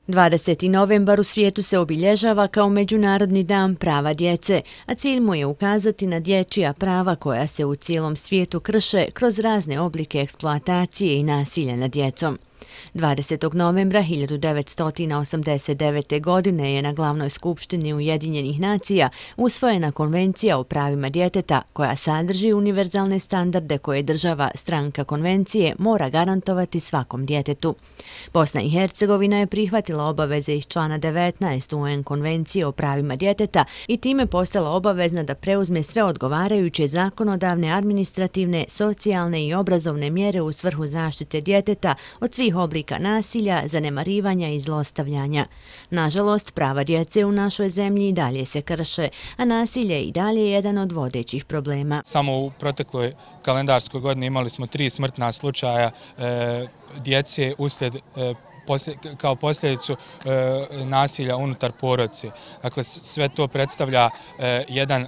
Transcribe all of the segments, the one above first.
20. novembar u svijetu se obilježava kao Međunarodni dan prava djece, a cilj mu je ukazati na dječja prava koja se u cijelom svijetu krše kroz razne oblike eksploatacije i nasilja nad djecom. 20. novembra 1989. godine je na Glavnoj skupštini Ujedinjenih nacija usvojena Konvencija o pravima djeteta koja sadrži univerzalne standarde koje država stranka konvencije mora garantovati svakom djetetu. Bosna i Hercegovina je prihvatila obaveze iz člana 19 UN Konvencije o pravima djeteta i time postala obavezna da preuzme sve odgovarajuće zakonodavne, administrativne, socijalne i obrazovne mjere u svrhu zaštite djeteta od svih oblika nasilja, zanemarivanja i zlostavljanja. Nažalost, prava djece u našoj zemlji i dalje se krše, a nasilje i dalje je jedan od vodećih problema. Samo u protekloj kalendarskoj godini imali smo 3 smrtna slučaja djece uslijed kao posljedicu nasilja unutar porodice. Dakle, sve to predstavlja jedan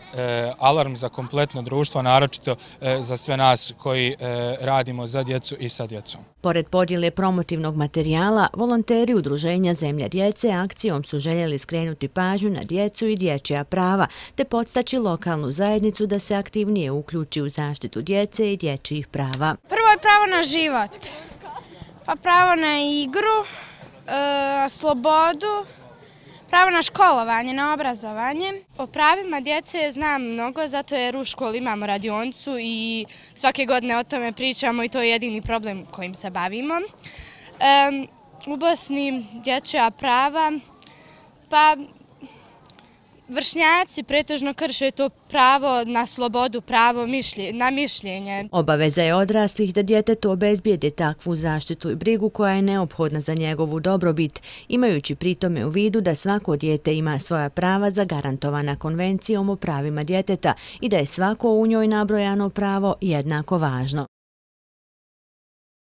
alarm za kompletno društvo, naročito za sve nas koji radimo za djecu i sa djecom. Pored podjele promotivnog materijala, volonteri Udruženja Zemlja djece akcijom su željeli skrenuti pažnju na djecu i dječja prava, te podstaći lokalnu zajednicu da se aktivnije uključi u zaštitu djece i dječjih prava. Prvo je pravo na život. Pa pravo na igru, slobodu, pravo na školovanje, na obrazovanje. O pravima djece znam mnogo, zato jer u školi imamo radionicu i svake godine o tome pričamo i to je jedini problem kojim se bavimo. U Bosni dječja prava, pa vršnjaci pretežno krše to pravo na slobodu, pravo na mišljenje. Obaveza je odraslih da djetetu obezbijede takvu zaštitu i brigu koja je neophodna za njegovu dobrobit, imajući pritome u vidu da svako dijete ima svoja prava zagarantovana Konvencijom o pravima djeteta i da je svako u njoj nabrojano pravo jednako važno.